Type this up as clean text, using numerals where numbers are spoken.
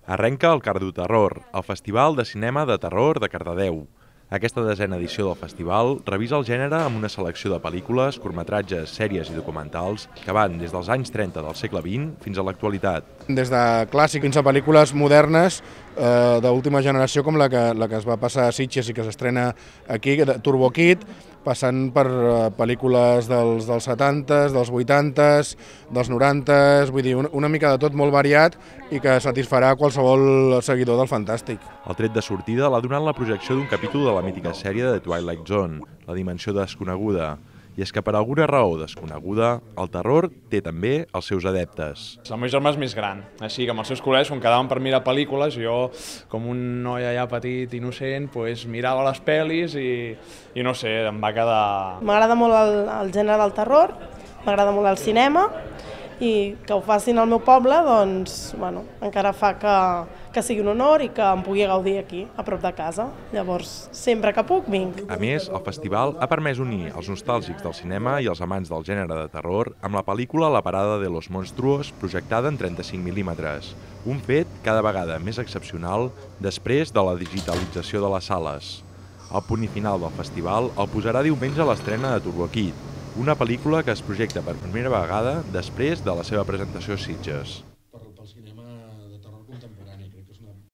Arrenca el Cardoterror, el Festival de Cinema de Terror de Cardedeu. Aquesta desena edició del festival revisa el gènere amb una selecció de pel·lícules, curtmetratges, sèries i documentals que van des dels anys 30 del segle XX fins a l'actualitat. Des de clàssic fins a pel·lícules modernes d'última generació com la que es va passar a Sitges i que s'estrena aquí, Turbo Kid, passant per pel·lícules dels 70s, dels 80s, dels 90s, vull dir, una mica de tot molt variat i que satisfarà qualsevol seguidor del fantàstic. El tret de sortida l'ha donat la projecció d'un capítol de la mítica sèrie de Twilight Zone, La dimensió desconeguda. I és que per alguna raó desconeguda, el terror té també els seus adeptes. El meu germà és més gran, així que amb els seus col·legues, quan quedàvem per mirar pel·lícules, jo, com un noi allà petit, innocent, mirava les pel·lis i no sé, em va quedar... M'agrada molt el gènere del terror, m'agrada molt el cinema, i que ho facin al meu poble, doncs, bueno, encara fa que sigui un honor i que em pugui gaudir aquí, a prop de casa. Llavors, sempre que puc, vinc. A més, el festival ha permès unir els nostàlgics del cinema i els amants del gènere de terror amb la pel·lícula La parada de los monstruos, projectada en 35 mil·límetres. Un fet cada vegada més excepcional després de la digitalització de les sales. El punt i final del festival el posarà diumenge a l'estrena de Turbo Kid, una pel·lícula que es projecta per primera vegada després de la seva presentació a Sitges.